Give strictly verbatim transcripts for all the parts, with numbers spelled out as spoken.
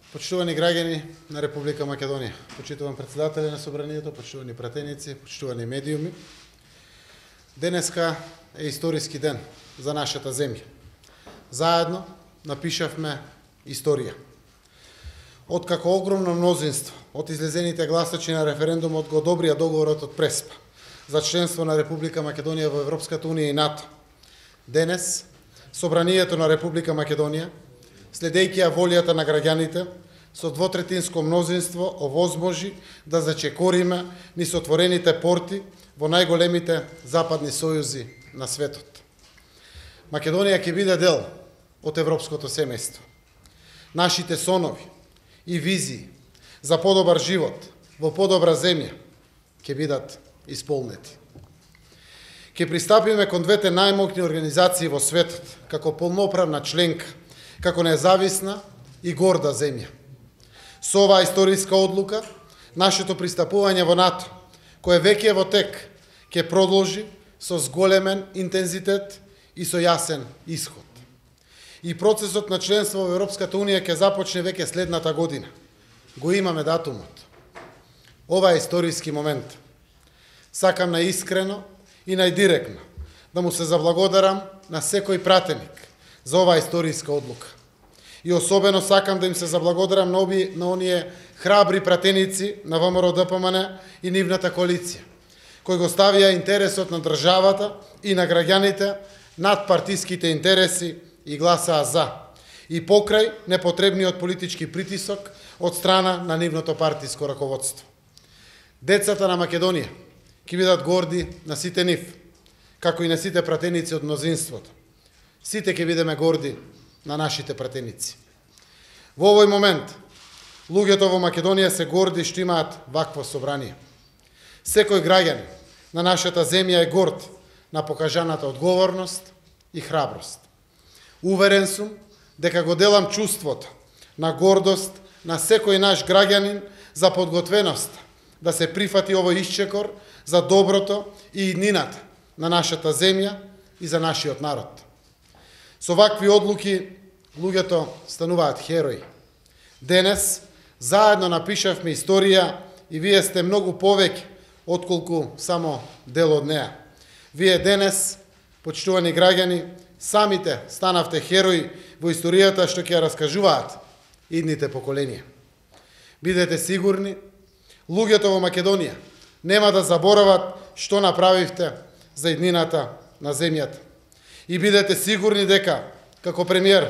Почитувани граѓани на Република Македонија, почитуван председатели на Собранието, почитувани пратеници, почитувани медиуми, денеска е историски ден за нашата земја. Заедно напишавме историја. Откако огромно мнозинство од излезените гласачи на референдумот го одобрија договорот од Преспа за членство на Република Македонија во Европската унија и НАТО, денес Собранието на Република Македонија, следејќи ја волјата на граѓаните, со двотретинско мнозинство овозможи да зачекориме низ отворените порти во најголемите западни сојузи на светот. Македонија ќе биде дел од европското семејство. Нашите сонови и визии за подобар живот во подобра земја ќе бидат исполнети. Ќе пристапиме кон двете најмокни организации во светот, како полноправна членка, како независна и горда земја. Со оваа историска одлука, нашето пристапување во НАТО, кое веќе е во тек, ќе продолжи со зголемен интензитет и со јасен исход. И процесот на членство во Европската унија ќе започне веќе следната година. Го имаме датумот. Ова е историски момент. Сакам наискрено и најдиректно да му се заблагодарам на секој пратеник за оваа историска одлука. И особено сакам да им се заблагодарам на, оби, на оние храбри пратеници на ВМРО Д П М Н и нивната коалиција, кои го ставија интересот на државата и на граѓаните над партиските интереси и гласаа за, и покрај непотребниот политички притисок од страна на нивното партиско раководство. Децата на Македонија ќе бидат горди на сите нив, како и на сите пратеници од мнозинството. Сите ќе бидеме горди на нашите пратеници. Во овој момент, луѓето во Македонија се горди што имаат вакво собрание. Секој граѓанин на нашата земја е горд на покажаната одговорност и храброст. Уверен сум дека го делам чувството на гордост на секој наш граѓанин за подготвеност да се прифати овој исчекор за доброто и иднината на нашата земја и за нашиот народ. Со вакви одлуки луѓето стануваат херои. Денес заедно напишавме историја и вие сте многу повеќе отколку само дел од неа. Вие денес, почитувани граѓани, самите станавте херои во историјата што ќе ја раскажуваат идните поколенија. Бидете сигурни, луѓето во Македонија нема да заборават што направивте за иднината на земјата. И бидете сигурни дека, како премиер,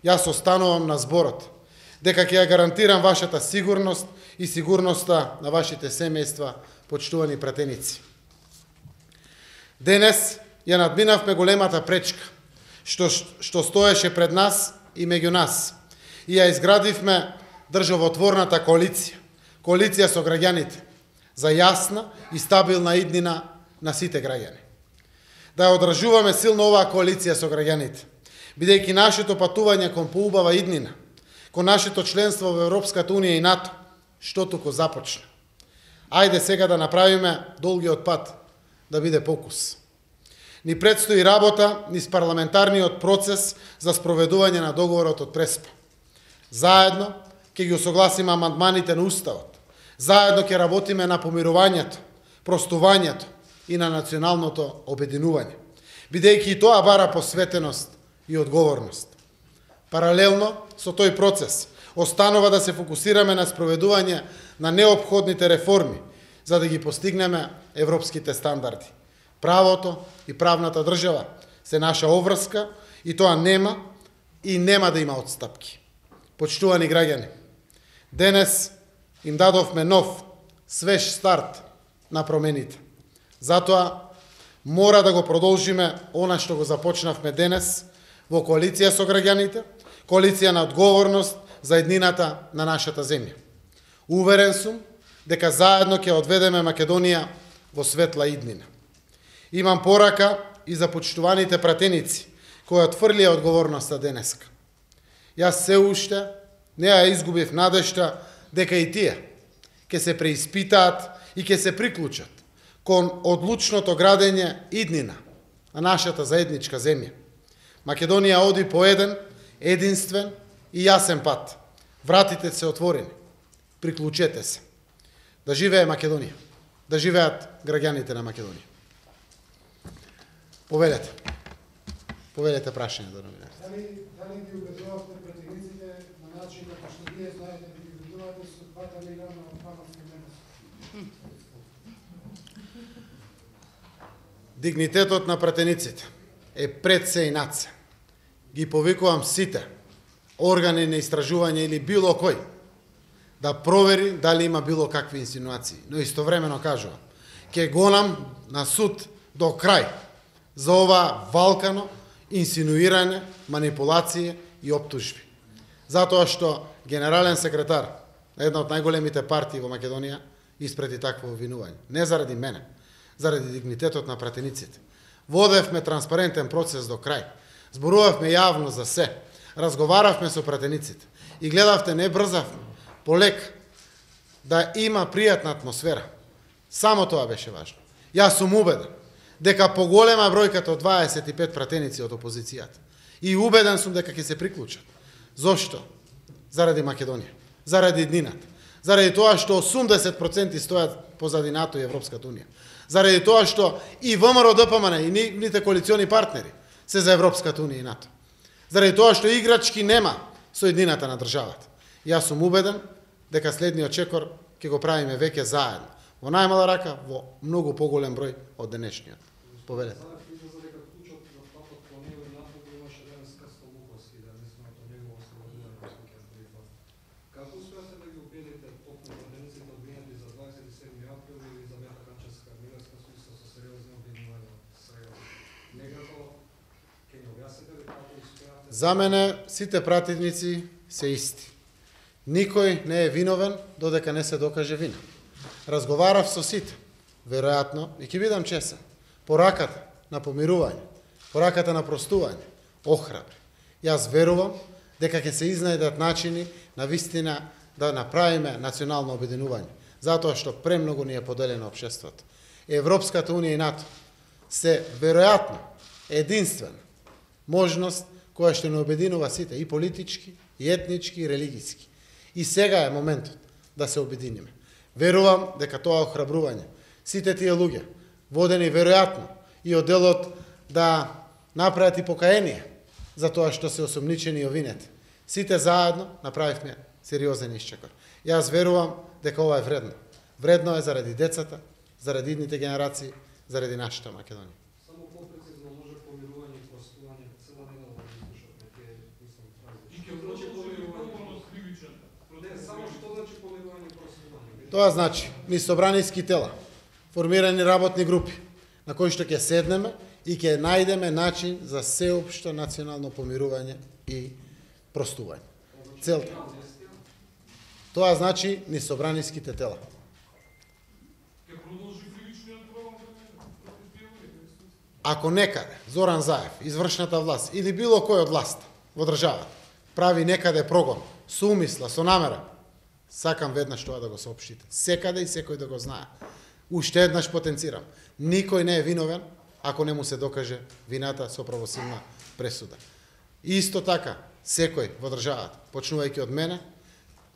јас останувам на зборот, дека ќе ја гарантирам вашата сигурност и сигурноста на вашите семејства, почитувани пратеници. Денес ја надминавме големата пречка, што, што стоеше пред нас и меѓу нас, и ја изградивме државотворната коалиција, коалиција со граѓаните, за јасна и стабилна иднина на сите граѓани. Да ја одржуваме силно оваа коалиција со граѓаните, бидејќи нашето патување кон поубава иднина, кон нашето членство во Европската унија и НАТО, што туку започна. Ајде сега да направиме долгиот пат да биде покус. Ни предстои работа низ парламентарниот процес за спроведување на договорот од Преспа. Заедно ќе ги усогласиме амандманите на Уставот. Заедно ќе работиме на помирувањето, простувањето и на националното обединување, бидејќи и тоа бара посветеност и одговорност. Паралелно со тој процес, останува да се фокусираме на спроведување на неопходните реформи, за да ги постигнеме европските стандарди. Правото и правната држава се наша обврска и тоа нема и нема да има отстапки. Почитувани граѓани, денес им дадовме нов, свеж старт на промените. Затоа мора да го продолжиме она што го започнавме денес во коалиција со граѓаните, коалиција на одговорност за еднината на нашата земја. Уверен сум дека заедно ќе одведеме Македонија во светла иднина. Имам порака и за почитуваните пратеници кои отфрлија одговорноста денеска. Јас се уште не ја изгубив надежта дека и тие ќе се преиспитаат и ќе се приклучат кон одлучното градење иднина на нашата заедничка земја. Македонија оди по еден, единствен и јасен пат Вратите се отворени. Приклучете се. Да живее Македонија. Да живеат граѓаните на Македонија. Повелете. Повелете прашање до новинарите. Дали, дали ги убедувавте пратениците на начин како што вие знаете да ги убедувате со двата милиона паматски менеси? Дигнитетот на пратениците е пред се и над се. Ги повикувам сите органи на истражување или било кој да провери дали има било какви инсинуации. Но истовремено кажувам, ќе гонам на суд до крај за ова валкано инсинуирање, манипулација и оптужби. Затоа што генерален секретар на една од најголемите партии во Македонија испрети такво обвинување. Не заради мене, заради дигнитетот на пратениците. Водевме транспарентен процес до крај. Зборувавме јавно за се. Разговаравме со пратениците. И гледавте, не брзавме. Полек да има пријатна атмосфера. Само тоа беше важно. Јас сум убеден дека поголема бројката од дваесет и пет пратеници од опозицијата. И убеден сум дека ќе се приклучат. Зошто? Заради Македонија. Заради иднината. Заради тоа што осумдесет проценти стојат позади НАТО и Европската унија. Заради тоа што и ВМРО Д П М Н и нивните коалициони партнери се за Европската унија и НАТО. Заради тоа што играчки нема со иднината на државата. Јас сум убеден дека следниот чекор ќе го правиме веќе заедно. Во најмала рака, во многу поголем број од денешниот. Повелете. Како успеате да ги убедите токму пратениците обвинети за дваесет и седми април и Елизавета Канчевска-Милевска со сериозни обвинувања сега? Некако ќе ни објасните ли како успеате? За мене сите пратеници се исти. Никој не е виновен додека не се докаже вина. Разговарав со сите, веројатно, и ќе бидам чесен. Пораката на помирување, пораката на простување, охрабри. Јас верувам дека ќе се изнајдат начини на вистина да направиме национално обединување, затоа што премногу ни е поделено општеството. Европската унија и НАТО се веројатно единствена можност која што не обединува сите, и политички, и етнички, и религиски. И сега е моментот да се обединиме. Верувам дека тоа охрабрување, сите тие луѓе, водени веројатно и од делот да направат и покаяние за тоа што се осомничени и овинети. Сите заедно направивме сериозен исчекор. Јас верувам дека ова е вредно. Вредно е заради децата, заради идните генерации, заради нашата Македонија. Само попрецизно може помирување и простување, цела недела да слушавме тие, мислам, фрази. И ќе значи помирување кривичен. Не, само што значи помирување и простување? Тоа значи ни собраниски тела, формирани работни групи, на кои што ќе седнеме и ќе најдеме начин за сеопшто национално помирување и простување. Целта. Тоа значи ни собраниските тела. Ако некаде Зоран Заев, извршната власт или било кој од власт во државата прави некаде прогон со умисла, со намера, сакам веднаш тоа да го соопштите. Секаде и секој да го знае. Уште еднаш потенцирам. Никој не е виновен ако не му се докаже вината со правосудна пресуда. И исто така, секој во државата, почнувајќи од мене,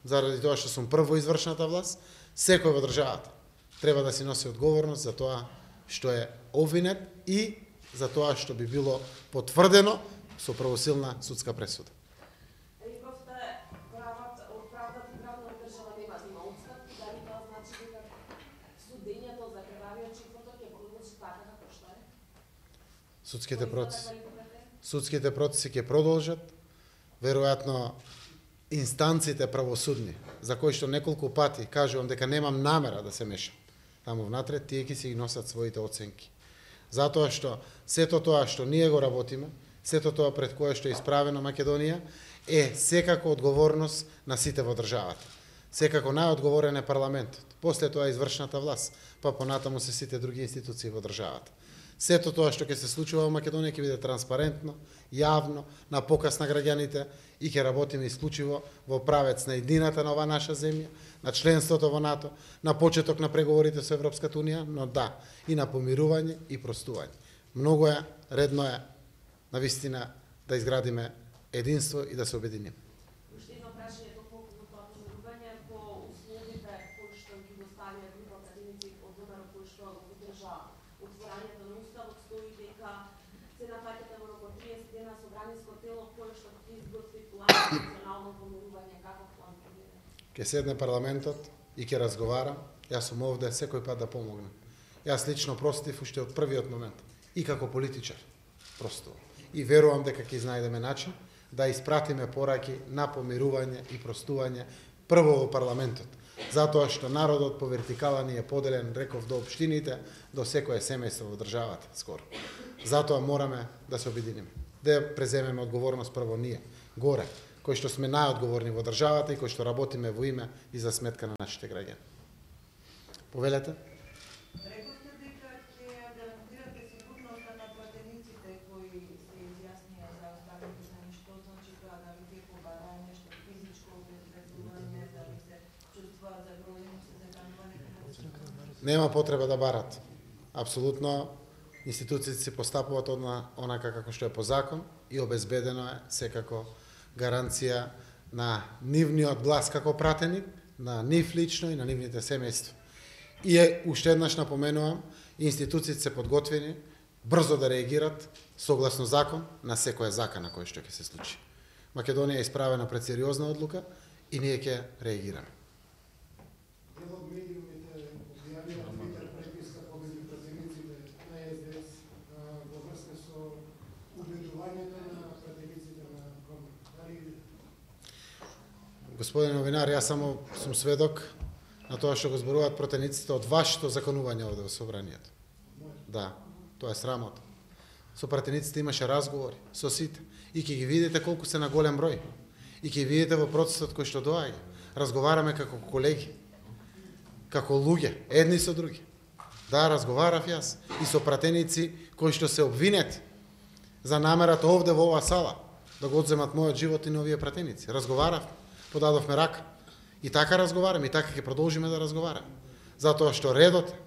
заради тоа што сум прво извршната власт, секој во државата треба да си носи одговорност за тоа што е обвинет и за тоа што би било потврдено со правосилна судска пресуда. Судските процеси. Судските процеси ќе продолжат, веројатно инстанците правосудни, за кои што неколку пати кажувам дека немам намера да се мешам таму внатре, тие ќе си ги носат своите оценки. Затоа што сето тоа што ние го работиме, сето тоа пред кое што е исправена Македонија, е секако одговорност на сите во државата. Секако најодговорен е парламентот, после тоа извршната власт, па понатаму се сите други институции во државата. Сето тоа што ќе се случува во Македонија ќе биде транспарентно, јавно, на показ на граѓаните и ќе работиме исклучиво во правец на едината на оваа наша земја, на членството во НАТО, на почеток на преговорите со Европската унија, но да, и на помирување и простување. Многу е, редно е, навистина, да изградиме единство и да се обединиме. Уште едно прашање, колку кој што го поддржа отворањето на уставот, стои дека се нафаќате во рок од триесет дена собраниско тело кое што ќе изготви план за национално помирување. Каков план планирате? Ќе седне парламентот и ќе разговара. Јас сум овде секој пат да помогнам. Јас лично простив уште од првиот момент и како политичар простувам. И верувам дека ќе изнајдеме начин да испратиме пораки на помирување и простување прво во парламентот. Затоа што народот по вертикала ни е поделен, реков, до општините, до секое семејство во државата скоро. Затоа мораме да се обединиме, да преземеме одговорност прво ние, горе, кои што сме најодговорни во државата и кои што работиме во име и за сметка на нашите граѓани. Повелете? Рековте дека ќе гарантирате сигурноста на платениците кои се изјаснија за оставените на што значи тоа, дали ќе побараат нешто физичко обезбедување, дали се чувствуваат загрозени се заканување? Нема потреба да барат. Апсолутно институциите се постапуваат онака како што е по закон и обезбедено е секако гаранција на нивниот глас како пратеник, на нив лично и на нивните семејства. И е, уште еднаш напоменувам, институциите се подготвени брзо да реагират согласно закон на секоја закана кој што ќе се случи. Македонија е исправена пред сериозна одлука и ние ќе реагираме. Дел од медиумите објавија Твитер преписка помеѓу пратениците на Ес Де Ес во врска со убедувањето на пратениците на Ком. Дали Господин новинар, јас само сум сведок на тоа што го зборуваат пратениците од вашето законување овде во собранието. Да, тоа е срамота. Со пратениците имаше разговори, со сите. И ќе ги видите колку се на голем број. И ќе видите во процесот кој што доаѓа. Разговараме како колеги, како луѓе, едни со други. Да, разговарав јас и со пратеници кои што се обвинети за намерата овде во оваа сала да го одземат мојот живот и на овие пратеници. Разговарав, подадовме рака. И така разговараме, и така ќе продолжиме да разговараме. Затоа што редот е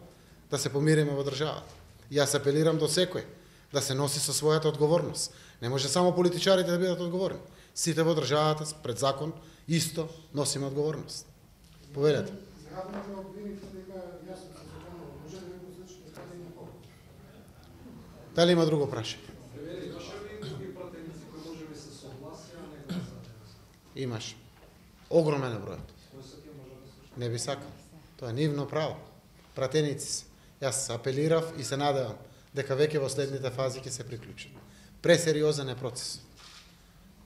да се помириме во државата. И јас апелирам до секој да се носи со својата одговорност. Не може само политичарите да бидат одговорни. Сите во државата пред закон исто носиме одговорност. Повелете. згадната обвините дека јасно се заканува, може да го случите кадени кога? Дали има друго прашање? Превери, имаше ли други пратеници кои може би се согласија, а не гласаа денес? Имаш. Огромен е бројот. Кој се ќе може да слуша? Не би сакал. Тоа е нивно право. Пратеници се. Јас апелирав и се надевам дека веќе во следните фази ќе се приклучат. Пресериозен е процесот.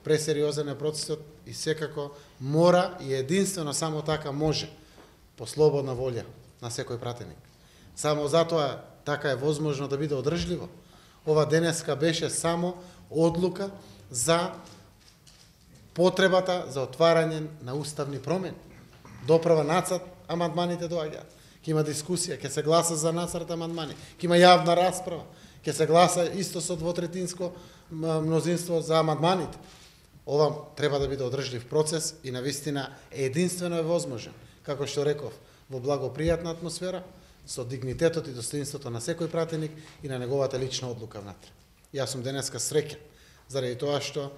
Пресериозен е процесот и секако мора и единствено само така може по слободна волја на секој пратеник. Само затоа така е возможно да биде одржливо. Ова денеска беше само одлука за потребата за отварање на уставни промени. Доправа нацрт, амандманите доаѓаат. Ќе има дискусија, ќе се гласа за нацрт амандмани, ќе има јавна расправа, ќе се гласа исто со двотретинско мнозинство за амандманите. Ова треба да биде одржлив процес и навистина единствено е возможен, како што реков, во благопријатна атмосфера, со дигнитетот и достоинството на секој пратеник и на неговата лична одлука внатре. Јас сум денеска среќен заради тоа што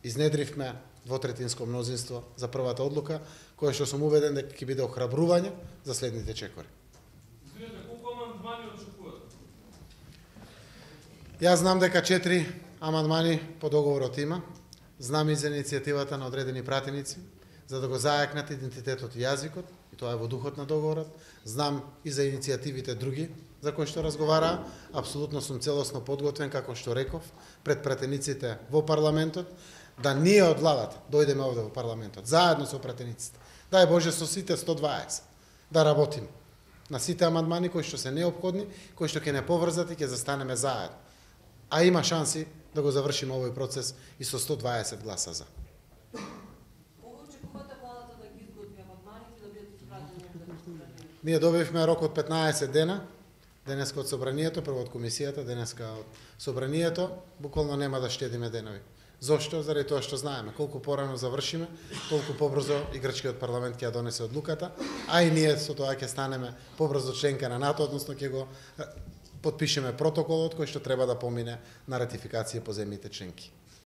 изнедривме двотретинско мнозинство за првата одлука, која што сум убеден дека ќе биде охрабрување за следните чекори. Извинете, колку амандмани очекувате? Јас знам дека четири амандмани по договорот има. Знам и за иницијативата на одредени пратеници за да го зајакнат идентитетот и јазикот, и тоа е во духот на договорот. Знам и за иницијативите други за кои што разговараа. Апсолутно сум целосно подготвен, како што реков, пред пратениците во парламентот, да ние од владата дојдеме овде во парламентот, заедно со пратениците. Дај Боже со сите сто дваесет да работиме на сите амандмани кои што се неопходни, кои што ќе не поврзат и ќе застанеме заедно. А има шанси да го завршиме овој процес и со сто дваесет гласа за. Кога очекувате владата да ги изготви амандманите да бидат испратени за собранието? Ние добивме рок од петнаесет дена, денеска од собранието, прво од комисијата, денеска од собранието, буквално нема да штедиме денови. Зошто? Заради тоа што знаеме, колку порано завршиме, толку побрзо и грчкиот парламент ќе ја донесе одлуката, а и ние со тоа ќе станеме побрзо членка на НАТО, односно ќе го потпишеме протоколот кој што треба да помине на ратификација по земјите членки.